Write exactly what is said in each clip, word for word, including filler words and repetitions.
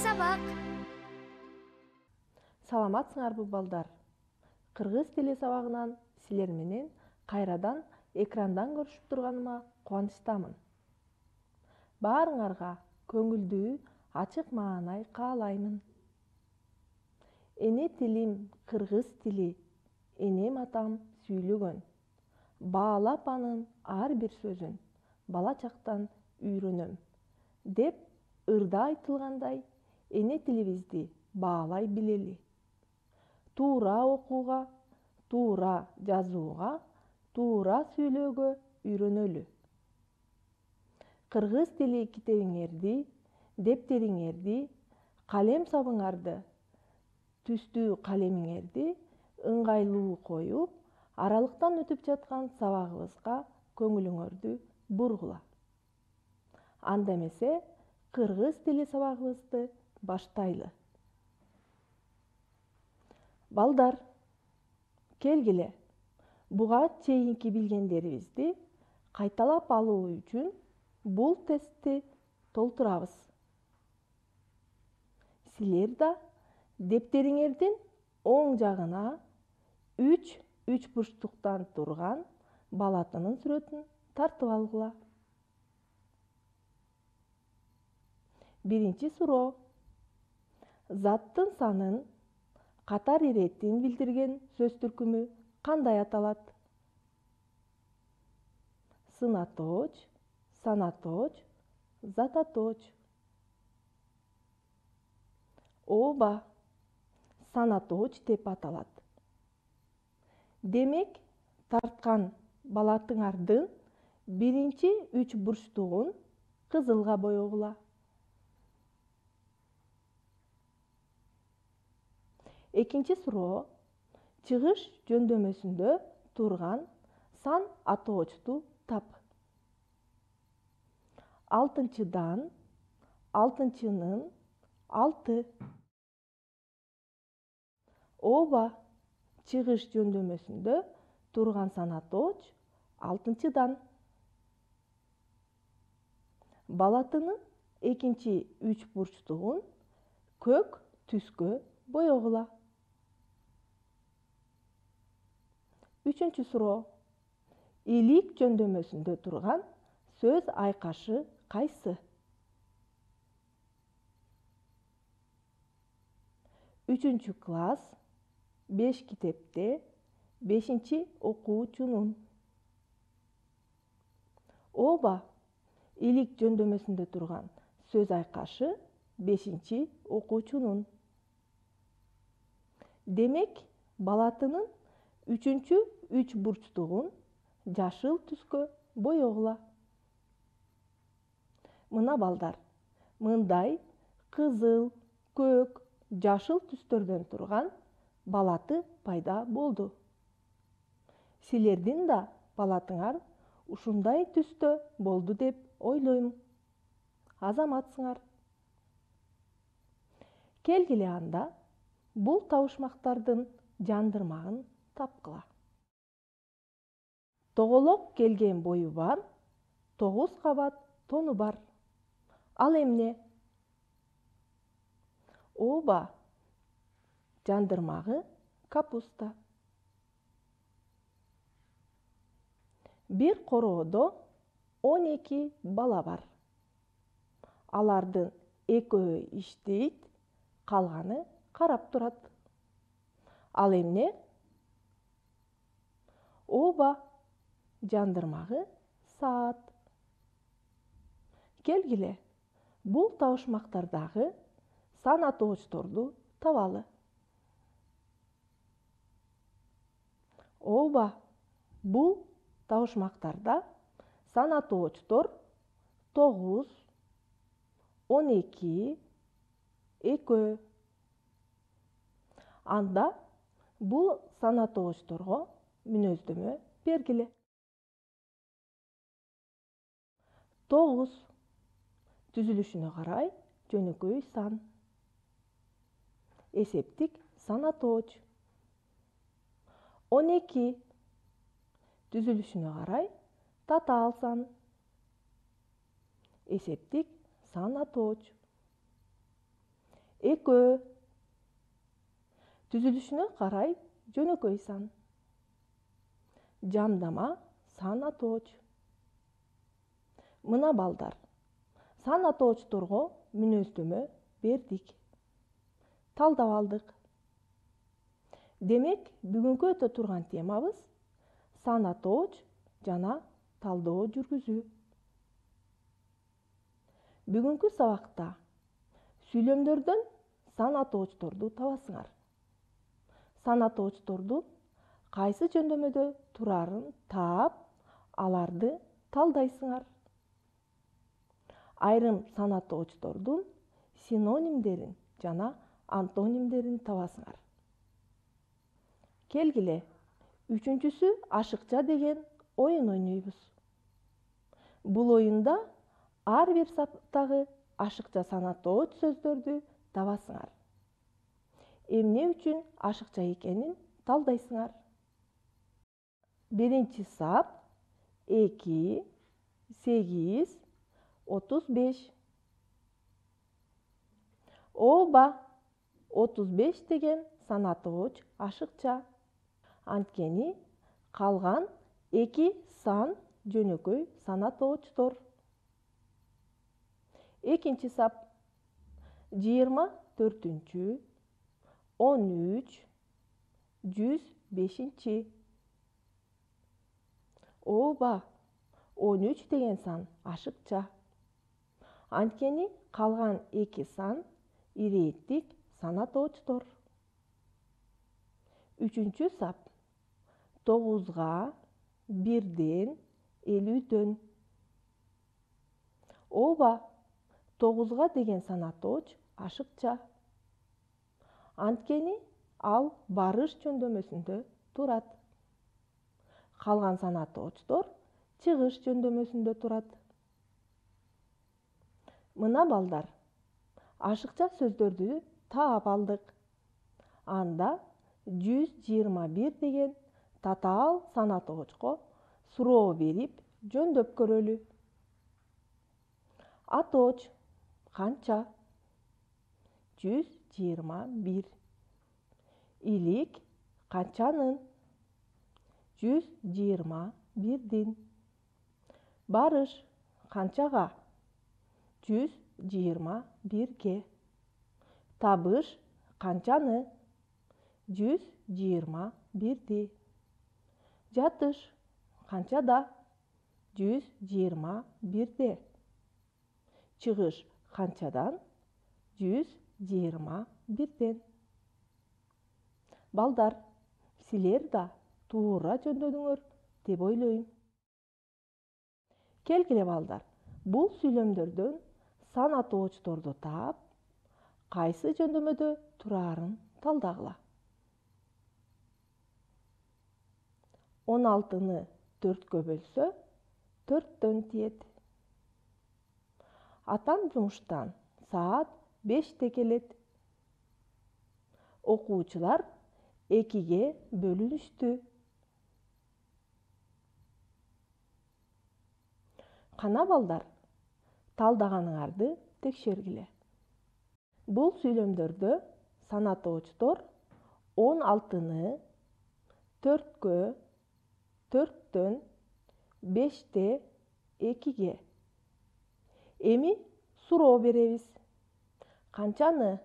сабак. Саламатсыңарбы балдар? Кыргыз тили сабагынан силер менен кайрадан экрандан көрүшүп турганыма кубанычтамын. Баарыңарга көңүлдүү, ачык маанай каалаймын. Эне тилим кыргыз тили, энем атам сүйлөгөн. Баалап анын ар бир сөзүн бала чактан үйрөнөм. Деп ырда айтылгандай, эне тилибизди баалай билели. Туура окууга, туура жазууга, туура сүйлөөгө үйрөнөлү. Кыргыз тили китебиңерди, дептериңерди, калем сабыңарды, түстүү калемиңерди ыңгайлуу коюп, аралыктан өтүп жаткан сабагыбызга көңүлүңөрдү бургула. Анда эмесе кыргыз тили сабагыбызды баштайлы. Балдар, келгиле, буга чейинки билгендерибизди кайталап алуу үчүн бул тестти толтурабыз. Силер да дептериңердин оң жагына үч үч бурчтуктан турган балатынын сүрөтүн тартып алгыла. Биринчи суроо. Заттын санын, катар иретин билдирген сөз түркүмү кандай аталат? Сынаточ, санаточ, зататоч. Ооба, санаточ деп аталат. Демек, тарткан балатыңардын биринчи үч бурчтугун кызылга боегула. Экинчи суроо. Чыгыш жөндөмөсүндө турган сан атоочту тап. Алтынчыдан, алтынчынын, алты. Ооба, чыгыш жөндөмөсүндө турган санаточ алтынчыдан. Балатынын экинчи үч бурчтугун көк түскө боегула. Үчүнчү суроо. Илик жөндөмөсүндө турган сөз айкашы кайсы? Үчүнчү класс, беш китепте, бешинчи окуучунун. Ооба, илик жөндөмөсүндө турган сөз айкашы бешинчи окуучунун. Демек, балатынын үчүнчү үч бурчтугун жашыл түскө боегула. Мына балдар, мындай кызыл, көк, жашыл түстөрдөн турган балаты пайда болду. Силердин да балатыңар ушундай түстө болду деп ойлойм. Азаматсыңар. Келгиле анда бул табышмактардын жандырмагын тапкыла. Тоголок келген бою бар, тогуз кабат тону бар. Ал эмне? Ооба, жандырмагы капуста. Бир короодо он эки бала бар. Алардын экөө иштейт, калганы карап турат. Ал эмне? Ооба, жандырмагы саат. Келгиле, бул табышмактардагы сан атоочторду табалы. Ооба, бул табышмактарда сан атоочтор тогуз, он эки, экөө. Анда бул сан атоочторго мүнөздөмө бергиле. Тогуз. Түзүлүшүнө карай жөнөкөй сан. Эсептик сан атооч. он эки. Түзүлүшүнө карай татаал сан. Эсептик сан атооч. экөө. Түзүлүшүнө карай жөнөкөй сан. Жамдама сан атооч. Мына балдар, сан атоочторго мүнөздөмө бердик. Талдап алдык. Демек, бүгүнкү өтө турган темабыз сан атооч жана талдоо жүргүзүү. Бүгүнкү сабакта сүйлөмдөрдөн сан атоочторду табасыңар. Сан атоочтордун кайсы жөндөмөдө турарын таап, аларды талдайсыңар. Айрым сан атоочтордун синонимдерин жана антонимдерин табасыңар. Келгиле, үчүнчүсү ашыкча деген оюн ойнойбуз. Бул оюнда ар бир саптагы ашыкча сан атооч сөздөрдү табасыңар. Эмне үчүн ашыкча экенин талдайсыңар. Биринчи сап эки, сегиз, отуз беш. Ооба, отуз беш деген сан атооч ашыкча. Анткени калган эки сан жөнөкөй сан атоочтор. Экинчи сап жыйырма төртүнчү, он үч, жүз бешинчи. Ооба, он үч деген сан ашыкча. Анткени калган эки сан ирээттик сан атоочтор. Үчүнчү сап тогузга, бирден, элүүдөн. Ооба, тогузга деген сан атооч ашыкча. Анткени ал барыш жөндөмөсүндө турат. Калган сан атоочтор чыгыш жөндөмөсүндө турат. Мына балдар, ашыкча сөздөрдү таап алдык. Анда жүз жыйырма бир деген татаал сан атоочко суроо берип, жөндөп көрөлү. Атооч канча? жүз жыйырма бир. Илик канчанын? жүз жыйырма бирдин. Барыш канчага? жүз жыйырма бирге. Табыш канчаны? жүз жыйырма бирди. Жатыш канчада? жүз жыйырма бирде. Чыгыш канчадан? жүз жыйырма бирден. Балдар, силер да туура жөндөдүңөр деп ойлойм. Келгиле балдар, бул сүйлөмдөрдөн сан атоочторду таап, кайсы жөндөмөдө турарын талдагыла. он алтыны төрткө бөлсө, төрттөн тиет. Атам жумуштан саат беште келет. Окуучулар экиге бөлүнүштү. Кана балдар, талдаганыңарды текшергиле. Бул сүйлөмдөрдө сан атоочтор он алтыны төрткө, төрттөн, беште, экиге. Эми суроо беребиз. Канчаны?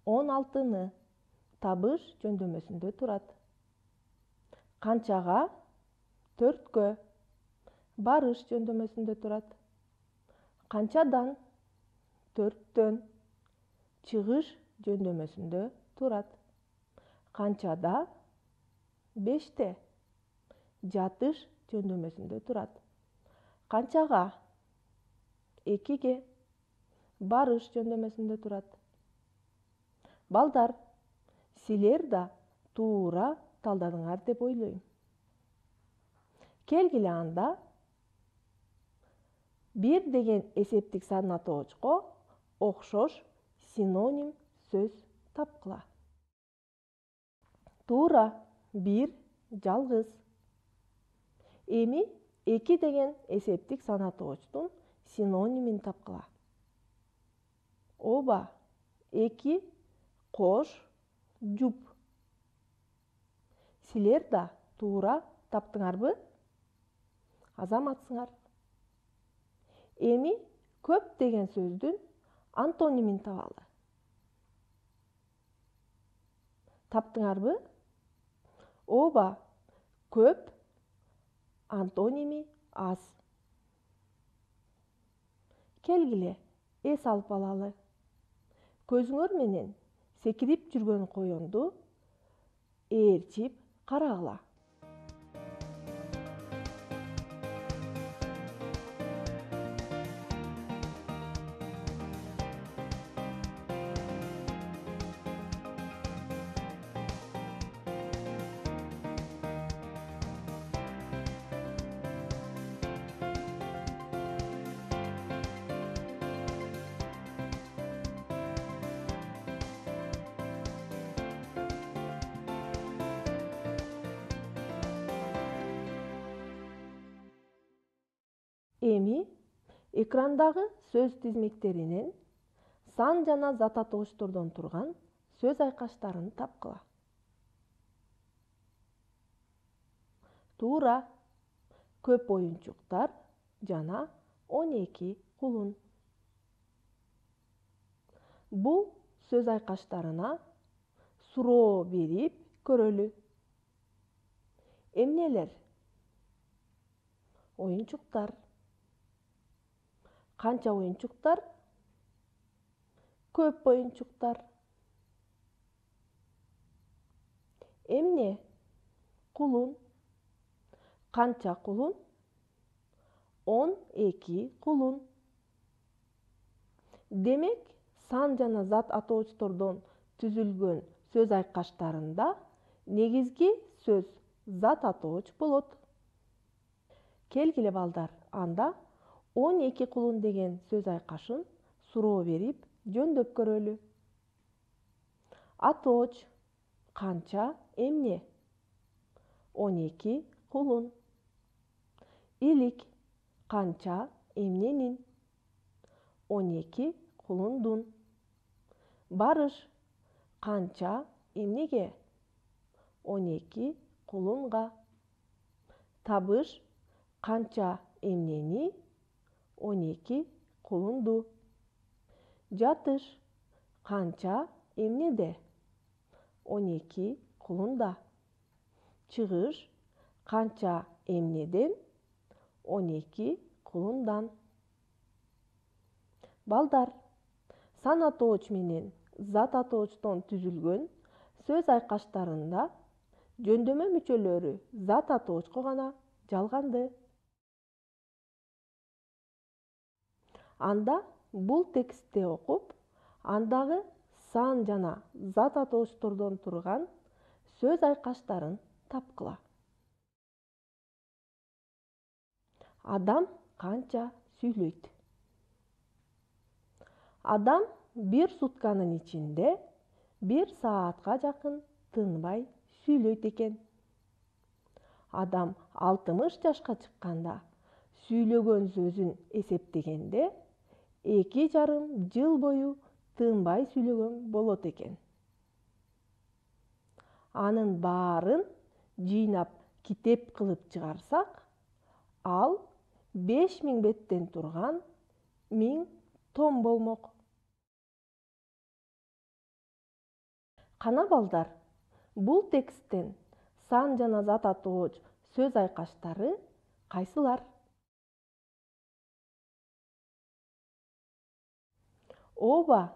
он алтыны. Табыш жөндөмөсүндө турат. Канчага? төрткө. Барыш жөндөмөсүндө турат. Канчадан? төрттөн. Чыгыш жөндөмөсүндө турат. Канчада? беште. Жатыш жөндөмөсүндө турат. Канчага? экиге. Барыш жөндөмөсүндө турат. Балдар, силер да туура талдадыңар деп ойлойм. Келгиле анда бир деген эсептик сан атоочко окшош синоним сөз тапкыла. Туура, бир, жалгыз. Эми эки деген эсептик сан атоочтун синонимин тапкыла. Ооба, эки кош жуп. Силер да туура таптыңарбы? Азаматсыңар. Эми көп деген сөздүн антонимин табалы. Таптыңарбы? Ооба, көп антоними аз. Келгиле, эс алып алалы. Көзүңөр менен секирип жүргөн коёнду ээрчип карагыла. Эми экрандагы сөз тизмектеринен сан жана зат атоочтордон турган сөз айкаштарын тапкыла. Туура, көп оюнчуктар жана он эки кулун. Бул сөз айкаштарына суроо берип көрөлү. Эмнелер? Оюнчуктар. Канча оюнчуктар? Көп оюнчуктар. Эмне? Кулун. Канча кулун? он эки кулун. Демек, сан жана зат атоочтордон түзүлгөн сөз айкаштарында негизги сөз зат атооч болот. Келгиле балдар, анда он эки кулун деген сөз айкашын суроо берип жөндөп көрөлү. Атооч канча эмне? он эки кулун. Илик канча эмненин? он эки кулундун. Барыш канча эмнеге? он эки кулунга. Табыш канча эмнени? он эки кулунду. Жатыш канча эмнеде? он эки кулунда. Чыгыш канча эмнеден? он эки кулундан. Балдар, сан атооч менен зат атоочтон түзүлгөн сөз айкаштарында жөндөмө мүчөлөрү зат атоочко гана жалганды. Анда бул текстти окуп, андагы сан жана зат атоочтордон турган сөз айкаштарын тапкыла. Адам канча сүйлөйт? Адам бир сутканын ичинде бир саатка жакын тынбай сүйлөйт экен. Адам алтымыш жашка чыкканда сүйлөгөн сөзүн эсептегенде эки жарым жыл бою тынбай сүйлөгөн болот экен. Анын баарын жыйнап китеп кылып чыгарсак, ал беш миң беттен турган миң том болмок. Кана балдар, бул тексттен сан жана зат атооч сөз айкаштары кайсылар? Ооба,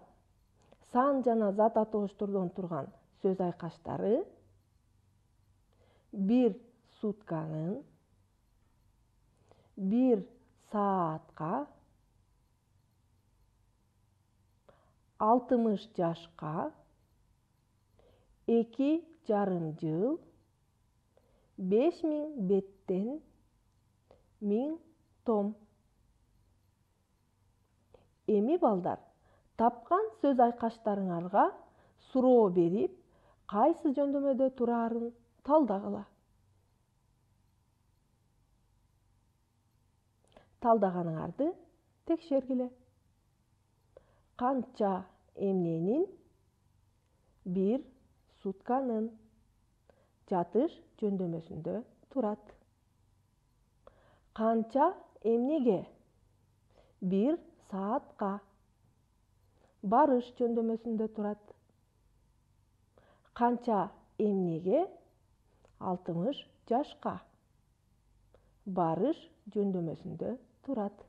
сан жана зат атоочтордон турган сөз айкаштары бир сутканын, бир саатка, алтымыш жашка, эки жарым жыл, беш миң беттен, миң том. Эми балдар, тапкан сөз айкаштарыңарга суроо берип, кайсы жөндөмөдө тураарын талдагыла. Талдаганыңарды текшергиле. Канча эмненин? Бир сутканын. Жатыш жөндөмөсүндө турат. Канча эмнеге? Бир саатка. Барыш жөндөмөсүндө турат. Канча эмнеге? Алтымыш жашка. Барыш жөндөмөсүндө турат.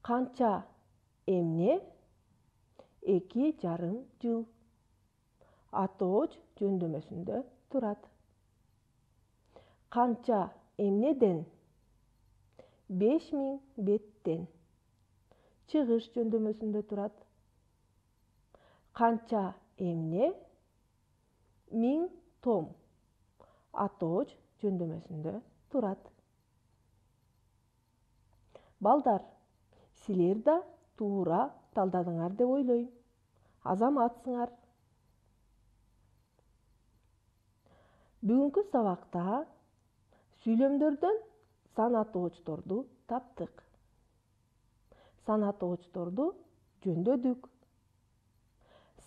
Канча эмне? Эки жарым жыл. Атооч жөндөмөсүндө турат. Канча эмнеден? Беш миң беттен. Чыгыш жөндөмөсүндө турат. Канча эмне? Миң том. Атооч жөндөмөсүндө турат. Балдар, силер да туура талдадыңар деп ойлойм. Азаматсыңар. Бүгүнкү сабакта сүйлөмдөрдөн сан атоочторду таптык. Сан атоочторду жөндөдүк.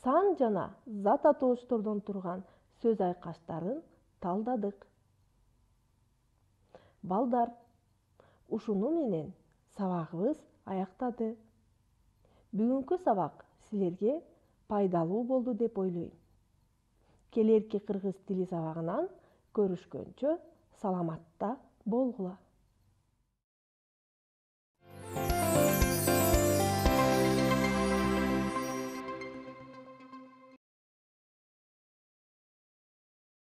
Сан жана зат атоочтордон турган сөз айкаштарын талдадык. Балдар, ушуну менен сабагыбыз аяктады. Бүгүнкү сабак силерге пайдалуу болду деп ойлойм. Келерки кыргыз тили сабагынан көрүшкөнчө саламатта болгула.